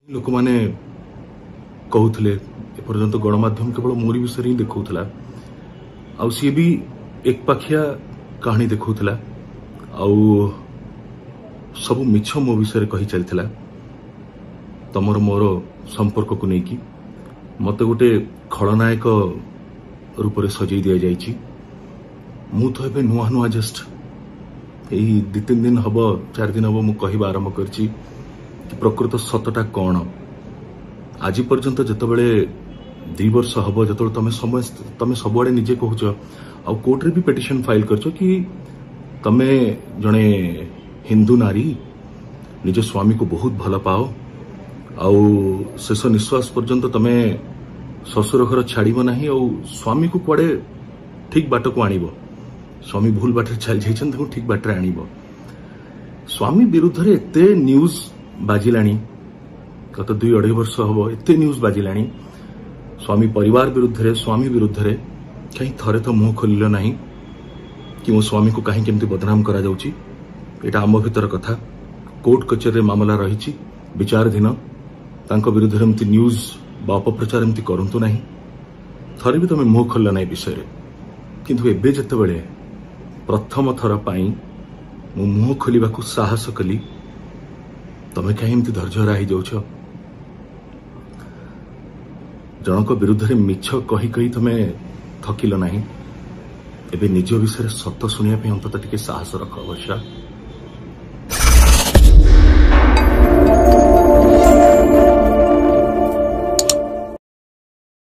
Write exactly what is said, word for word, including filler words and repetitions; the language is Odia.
ଲୋକମାନେ କହୁଥିଲେ, ଏପର୍ଯ୍ୟନ୍ତ ଗଣମାଧ୍ୟମ କେବଳ ମୋରି ବିଷୟରେ ହିଁ ଦେଖାଉଥିଲା, ଆଉ ସିଏ ବି ଏକପାଖିଆ କାହାଣୀ ଦେଖାଉଥିଲା, ଆଉ ସବୁ ମିଛ ମୋ ବିଷୟରେ କହି ଚାଲିଥିଲା। ତମର ମୋର ସମ୍ପର୍କକୁ ନେଇକି ମୋତେ ଗୋଟେ ଖଳନାୟକ ରୂପରେ ସଜେଇ ଦିଆଯାଇଛି। ମୁଁ ତ ଏବେ ନୂଆ ନୂଆ, ଜଷ୍ଟ ଏଇ ଦୁଇ ତିନି ଦିନ ହବ, ଚାରି ଦିନ ହବ ମୁଁ କହିବା ଆରମ୍ଭ କରିଛି କି ପ୍ରକୃତ ସତଟା କ'ଣ। ଆଜି ପର୍ଯ୍ୟନ୍ତ ଯେତେବେଳେ ଦୁଇ ବର୍ଷ ହବ, ଯେତେବେଳେ ତମେ ସମସ୍ତେ, ତମେ ସବୁଆଡ଼େ ନିଜେ କହୁଛ ଆଉ କୋର୍ଟରେ ବି ପିଟିସନ ଫାଇଲ କରିଛ କି ତମେ ଜଣେ ହିନ୍ଦୁ ନାରୀ, ନିଜ ସ୍ୱାମୀକୁ ବହୁତ ଭଲ ପାଅ, ଆଉ ଶେଷ ନିଶ୍ୱାସ ପର୍ଯ୍ୟନ୍ତ ତମେ ଶ୍ୱଶୁର ଘର ଛାଡ଼ିବ ନାହିଁ, ଆଉ ସ୍ୱାମୀକୁ କୁଆଡ଼େ ଠିକ ବାଟକୁ ଆଣିବ। ସ୍ୱାମୀ ଭୁଲ ବାଟରେ ଚାଲି ଯାଇଛନ୍ତି, ତାଙ୍କୁ ଠିକ ବାଟରେ ଆଣିବ। ସ୍ୱାମୀ ବିରୁଦ୍ଧରେ ଏତେ ନ୍ୟୁଜ୍ ବାଜିଲାଣି, ଗତ ଦୁଇ ଅଢ଼େଇ ବର୍ଷ ହବ ଏତେ ନ୍ୟୁଜ୍ ବାଜିଲାଣି ସ୍ୱାମୀ ପରିବାର ବିରୁଦ୍ଧରେ, ସ୍ୱାମୀ ବିରୁଦ୍ଧରେ, କାହିଁ ଥରେ ତ ମୁହଁ ଖୋଲିଲ ନାହିଁ କି ମୋ ସ୍ୱାମୀକୁ କାହିଁକି ଏମିତି ବଦନାମ କରାଯାଉଛି? ଏଇଟା ଆମ ଭିତର କଥା, କୋର୍ଟ କଚେରୀରେ ମାମଲା ରହିଛି ବିଚାରାଧୀନ, ତାଙ୍କ ବିରୁଦ୍ଧରେ ଏମିତି ନ୍ୟୁଜ୍ ବା ଅପପ୍ରଚାର ଏମିତି କରନ୍ତୁ ନାହିଁ। ଥରେ ବି ତମେ ମୁହଁ ଖୋଲିଲ ନାହିଁ ବିଷୟରେ। କିନ୍ତୁ ଏବେ ଯେତେବେଳେ ପ୍ରଥମ ଥର ପାଇଁ ମୁଁ ମୁହଁ ଖୋଲିବାକୁ ସାହସ କଲି, ତମେ କାହିଁ ଏମିତି ଧୈର୍ଯ୍ୟହରା ହେଇଯାଉଛ? ଜଣଙ୍କ ବିରୁଦ୍ଧରେ ମିଛ କହି କହି ତମେ ଥକିଲ ନାହିଁ, ଏବେ ନିଜ ବିଷୟରେ ସତ ଶୁଣିବା ପାଇଁ ଅନ୍ତତଃ ଟିକେ ସାହସ ରଖ ବର୍ଷା।